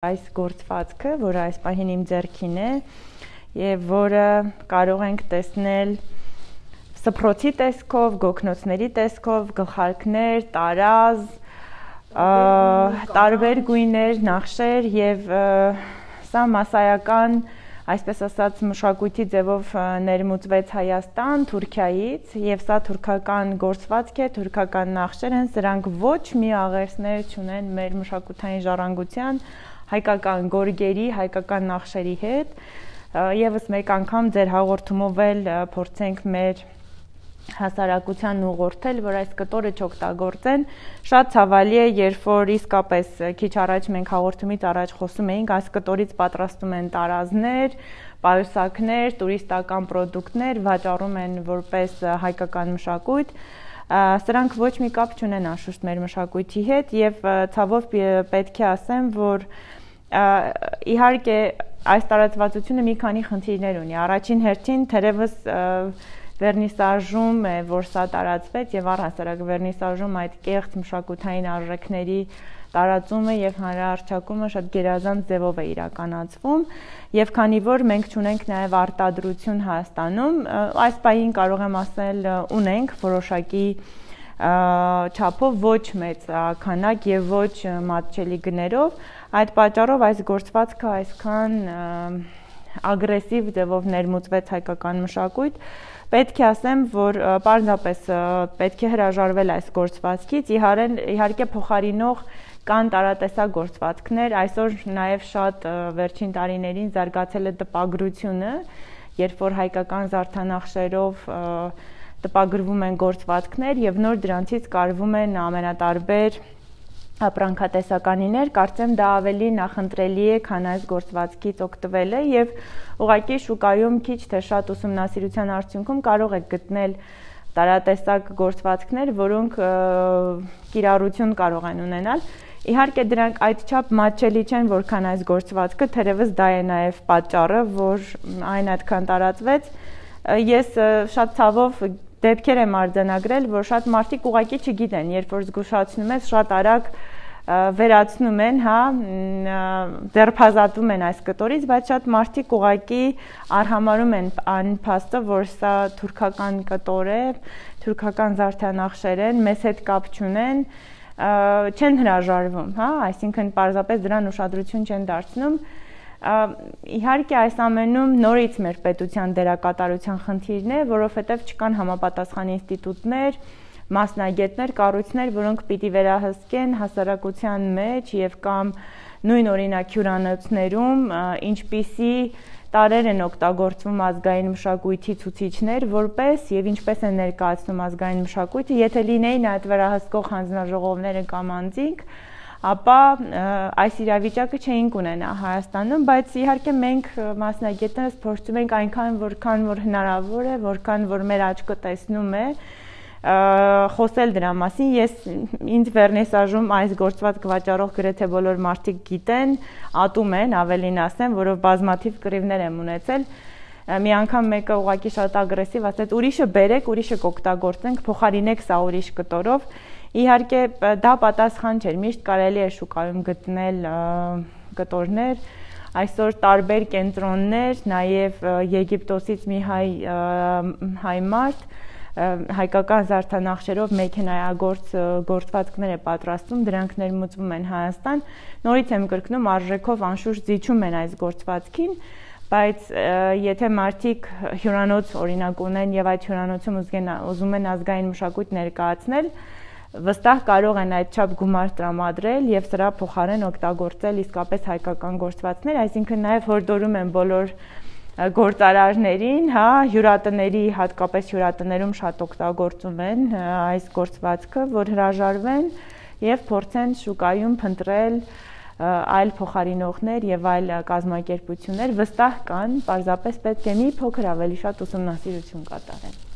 Այս գործվածքը, որը այս պահին իմ ձեռքին է, եւ որը կարող ենք տեսնել սփռոցի տեսքով, գոգնոցների տեսքով, գլխարկներ, տարազ, տարբեր գույներ, նախշեր եւ սա մասսայական, այսպես ասած, մշակույթի ձևով ներմուծվեց Հայաստան, Թուրքիայից եւ սա թուրքական գործվածք է, թուրքական նախշեր են, սրանք ոչ մի աղերսներ չունեն մեր մշակութային ժառանգության, հայկական գորգերի, հայկական նախշերի հետ, եւս մեկ անգամ ձեր հաղորդումով էլ փորձենք մեր հասարակությանն ուղղորդել, որ այս կտորը չօգտագործեն, շատ ցավալի է, երբ որ իսկապես քիչ առաջ մենք հաղորդումից առաջ խոսում էինք, այս կտորից պատրաստում են տարազներ, պայուսակներ, տուրիստական պրոդուկտներ, վաճառում են որպես հայկական մշակույթ, սրանք ոչ մի կապ չունեն անշուշտ մեր մշակույթի հետ եւ ցավով պետք է ասեմ, որ իհարկե այս տարածվածությունը մի քանի խնդիրներ ունի։ Առաջին հերթին թերևս վերնիսաժում է, որ սա տարածվեց եւ առհասարակ վերնիսաժում այդ կեղծ մշակութային արժեքների տարածումը եւ հանրահռչակումը շատ գերազանց ձևով է իրականացվում եւ քանի որ մենք չունենք նաեւ արտադրություն Հայաստանում, այս պահին կարող եմ ասել ունենք որոշակի չափով ոչ մեծ քանակ եւ ոչ մատչելի գներով, այդ պատճառով այս գործվածքը այսքան ագրեսիվ ձևով ներմուծվեց հայկական մշակույթ, պետք է ասեմ, որ պարզապես պետք է հրաժարվել այս գործվածքից, իհարկե փոխարինող կան տարատեսակ գործվածքներ, այսօր նաև շատ վերջին տարիներին զարգացել է տպագրությունը, երբ որ հայկական զարդանախշերով տպագրվում են գործվածքներ եւ նոր դրանցից կարվում են ամենատարբեր ապրանքատեսականիներ, կարծեմ դա ավելի նախընտրելի է, քան այս գործվածքից օգտվելը եւ ուղղակի շուկայում քիչ թե շատ ուսումնասիրության արդյունքում կարող եք գտնել տարատեսակ գործվածքներ, որոնք կիրառություն կարող են ունենալ։ Իհարկե դրանք այդչափ մատչելի չեն, որքան այս գործվածքը, թերևս դա է նաեւ պատճառը, որ այն այդքան տարածվեց։ Ես շատ ցավով դեպքեր եմ արձանագրել, որ շատ մարդիկ ուղղակի չգիտեն, երբ որ զգուշացնում ես, շատ արագ վերացնում են, ձերբազատվում են այս կտորից, բայց շատ մարդիկ ուղղակի արհամարհում են այն փաստը, որ սա թուրքական կտոր է, թուրքական զարդանախշեր են, մեզ հետ կապ չունեն, չեն հրաժարվում, այսինքն պարզապես դրան ուշադրություն չեն դարձնում։ Իհարկե այս ամենում նորից մեր պետության դերակատարության խնդիրն է, որովհետև չկան համապատասխան ինստիտուտներ, մասնագետներ, կառույցներ, որոնք պիտի վերահսկեն հասարակության մեջ եւ կամ նույն օրինակ հյուրանոցներում ինչպիսի տարեր են օգտագործվում ազգային մշակույթի ցուցիչներ, որպես եւ ինչպես են ներկայացնում ազգային մշակույթը, եթե լինեին այդ վերահսկող հանձնաժողովները կամ անձինք, ապա այս իրավիճակը չէինք ունենա Հայաստանում, բայց իհարկե մենք մասնագետներս փորձում ենք այնքան որքան որ հնարավոր է, որքան որ մեր աչքը տեսնում է, խոսել դրա մասին։ Ինձ վերնիսաժում այս գործվածքը վաճառող գրեթե բոլոր մարդիկ գիտեն, ատում են, ավելին ասեմ, որով բազմաթիվ կռիվներ եմ ունեցել։ Մի անգամ մեկը ուղղակի շատ ագրեսիվ ասեց՝ ուրիշը բերեք, ուրիշը կօգտագործենք, փոխարինեք սա ուրիշ կտորով։ Իհարկե դա պատասխան չէր, միշտ կարելի է շուկայում գտնել կտորներ, այսօր տարբեր կենտրոններ, նաև Եգիպտոսից մի հայ մարդ հայկական զարդանախշերով մեքենայագործ գործվածքներ է պատրաստում, դրանք ներմուծվում են Հայաստան, նորից եմ կրկնում, արժեքով անշուշտ զիջում են այս գործվածքին, բայց եթե մարդիկ հյուրանոց օրինակ ունեն եւ այդ հյուրանոցում ուզում են ազգային մշակույթ ներկայացնել, վստահ կարող են այդչափ գումար տրամադրել եւ սրա փոխարեն օգտագործել իսկապես հայկական գործվածքներ, այսինքն նաեւ հորդորում են բոլոր գործարարներին, հյուրատների, հատկապես հյուրատներում շատ օգտագործում են այս գործվածքը, որ հրաժարվեն եւ փորձեն շուկայում փնտրել այլ փոխարինողներ եւ այլ կազմակերպություններ, վստահ կան, պարզապես պետք է մի փոքր ավելի շատ ուսումնասիրություն կատարել։